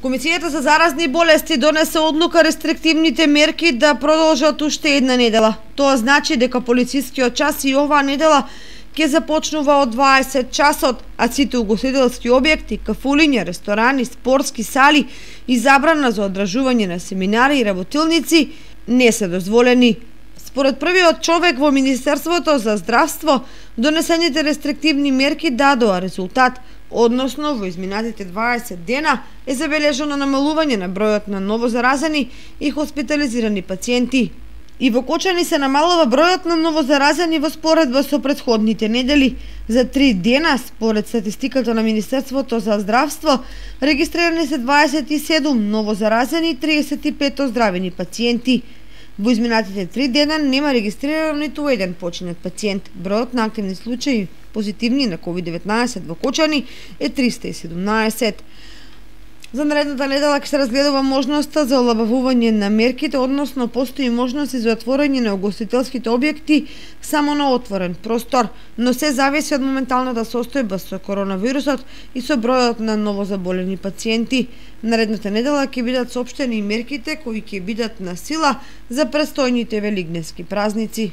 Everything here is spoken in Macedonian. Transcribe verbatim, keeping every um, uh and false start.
Комисијата за заразни болести донесе одлука рестриктивните мерки да продолжат уште една недела. Тоа значи дека полицискиот час и оваа недела ќе започнува од дваесет часот, а сите угостителски објекти, кафулиња, ресторани, спортски сали и забрана за одржување на семинари и работилници не се дозволени. Според првиот човек во Министерството за здравство, донесените рестриктивни мерки дадоа резултат, односно во изминатите дваесет дена е забележано намалување на бројот на новозаразени и хоспитализирани пациенти. И во Кочани се намалува бројот на новозаразени во споредба со претходните недели. За три дена, според статистиката на Министерството за здравство, регистрирани се дваесет и седум новозаразени и триесет и пет оздравени пациенти. Во изминатите три дена нема регистрирано ниту еден починат пациент. Бројот на активни случаи позитивни на ковид деветнаесет во Кочани е триста и седумнаесет. За наредната недела ќе се разгледува можноста за олабавување на мерките, односно постои можност за отворање на угостителските објекти само на отворен простор, но се зависи од моменталната состојба со коронавирусот и со бројот на новозаболени пациенти. Наредната недела ќе бидат соопштени мерките кои ќе бидат на сила за престојните велигневски празници.